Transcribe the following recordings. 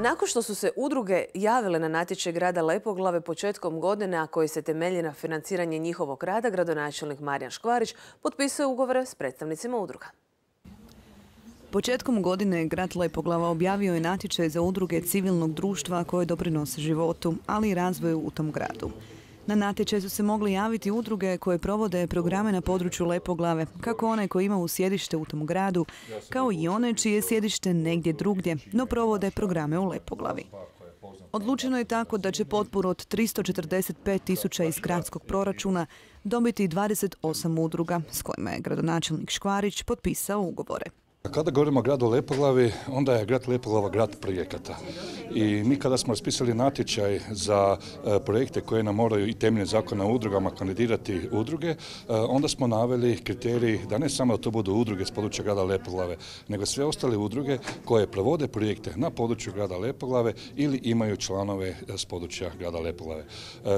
Nakon što su se udruge javile na natječaj grada Lepoglave početkom godine, a koji se temelji na financiranje njihovog rada, gradonačelnik Marijan Škvarić potpisuje ugovore s predstavnicima udruga. Početkom godine grad Lepoglava objavio je natječaj za udruge civilnog društva koje doprinose životu, ali i razvoju u tom gradu. Na natječaj su se mogli javiti udruge koje provode programe na području Lepoglave, kako one koje imaju sjedište u tom gradu, kao i one čije je sjedište negdje drugdje, no provode programe u Lepoglavi. Odlučeno je tako da će potporu od 345.000 iz gradskog proračuna dobiti 28 udruga s kojima je gradonačelnik Škvarić potpisao ugovore. Kada govorimo o gradu Lepoglavi, onda je grad Lepoglava grad projekata. I mi kada smo raspisali natječaj za projekte koje nam moraju i temeljem zakona o udrugama kandidirati udruge, onda smo naveli kriterij da ne samo da to budu udruge s područja grada Lepoglave, nego sve ostale udruge koje provode projekte na području grada Lepoglave ili imaju članove s područja grada Lepoglave.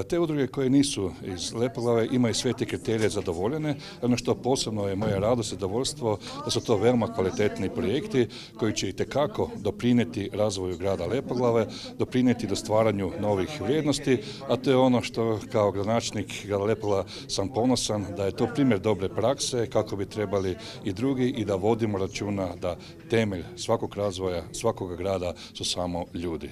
Te udruge koje nisu iz Lepoglave imaju sve te kriterije zadovoljene. Ono što posebno je moja radost i zadovoljstvo da su to veoma kvalitetni projekti koji će itekako doprinijeti razvoju grada Lepoglave, doprinijeti do stvaranju novih vrijednosti, a to je ono što kao gradonačelnik grada Lepoglava sam ponosan da je to primjer dobre prakse kako bi trebali i drugi i da vodimo računa da temelj svakog razvoja, svakog grada su samo ljudi.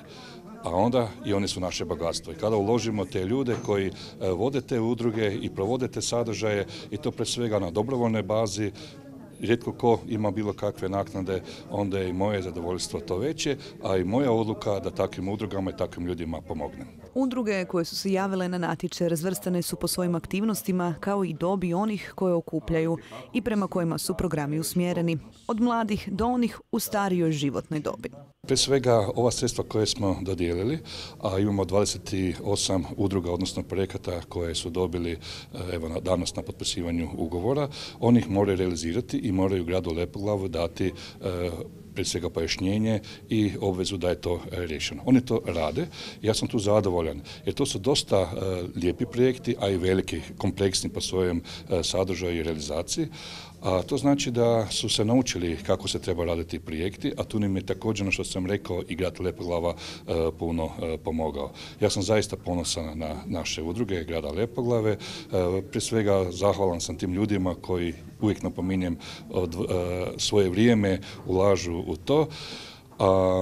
A onda i oni su naše bogatstvo. I kada uložimo te ljude koji vode te udruge i provode te sadržaje i to pre svega na dobrovoljnoj bazi, rijetko ko ima bilo kakve naknade, onda je i moje zadovoljstvo to veće, a i moja odluka da takvim udrugama i takvim ljudima pomognem. Udruge koje su se javile na natječaj razvrstane su po svojim aktivnostima kao i dobi onih koje okupljaju i prema kojima su programi usmjereni, od mladih do onih u starijoj životnoj dobi. Prije svega ova sredstva koje smo dodijelili, a imamo 28 udruga, odnosno projekata koje su dobili danas na potpisivanju ugovora, oni ih moraju realizirati i moraju gradu Lepoglavu dati prije svega pojašnjenje i obvezu da je to riješeno. Oni to rade, ja sam tu zadovoljan, jer to su dosta lijepi projekti, a i veliki, kompleksni po svojem sadržaju i realizaciji. A to znači da su se naučili kako se treba raditi projekti, a tu nam je također, ono što sam rekao, i grad Lepoglava puno pomogao. Ja sam zaista ponosan na naše udruge grada Lepoglave. Prije svega zahvalan sam tim ljudima koji, uvijek napominjem, svoje vrijeme ulažu u to.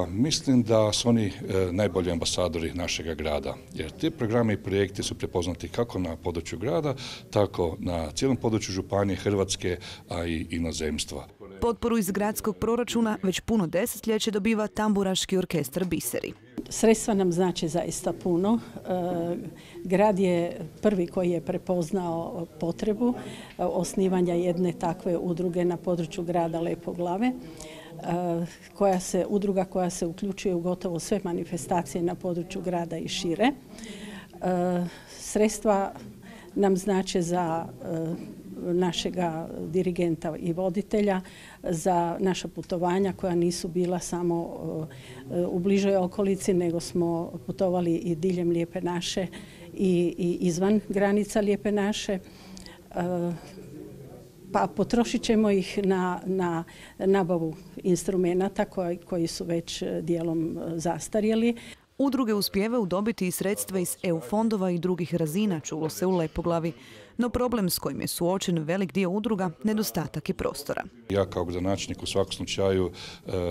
Mislim da su oni najbolji ambasadori našega grada, jer ti programi i projekti su prepoznati kako na području grada, tako na cijelom području županije, Hrvatske, a i inozemstva. Potporu iz gradskog proračuna već puno desetljeće dobiva tamburaški orkestar Biseri. Sredstva nam znači zaista puno. Grad je prvi koji je prepoznao potrebu osnivanja jedne takve udruge na području grada Lepoglave. Udruga koja se uključuje u gotovo sve manifestacije na području grada i šire. Sredstva nam znače za našega dirigenta i voditelja, za naša putovanja koja nisu bila samo u bližoj okolici, nego smo putovali i diljem Lijepe naše i izvan granica Lijepe naše. Pa potrošit ćemo ih na nabavu instrumenata koji su već dijelom zastarjeli. Udruge uspijevaju dobiti i sredstva iz EU fondova i drugih razina, čulo se u Lepoglavi. No problem s kojim je suočen velik dio udruga, nedostatak je prostora. Ja kao gradonačelnik u svakom slučaju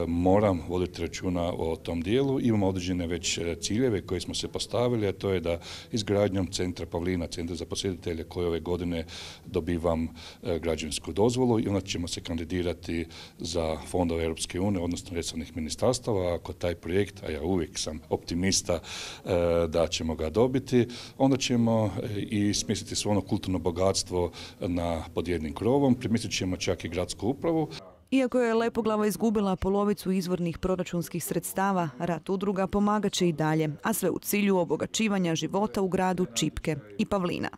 moram voditi računa o tom dijelu. Imamo određene već ciljeve koje smo se postavili, a to je da izgradnjom centra Pavlina, centra za posjetitelje, koje ove godine dobivam građevinsku dozvolu i onda ćemo se kandidirati za fondove Europske unije, odnosno resornih ministarstava. Ako taj projekt, a ja uvijek sam optimista da ćemo ga dobiti, onda ćemo i smjestiti svo ono kulturno bogatstvo pod jednim krovom, primislit ćemo čak i gradsku upravu. Iako je Lepoglava izgubila polovicu izvornih proračunskih sredstava, rad udruga pomagat će i dalje, a sve u cilju obogaćivanja života u gradu Čipke i Pavlina.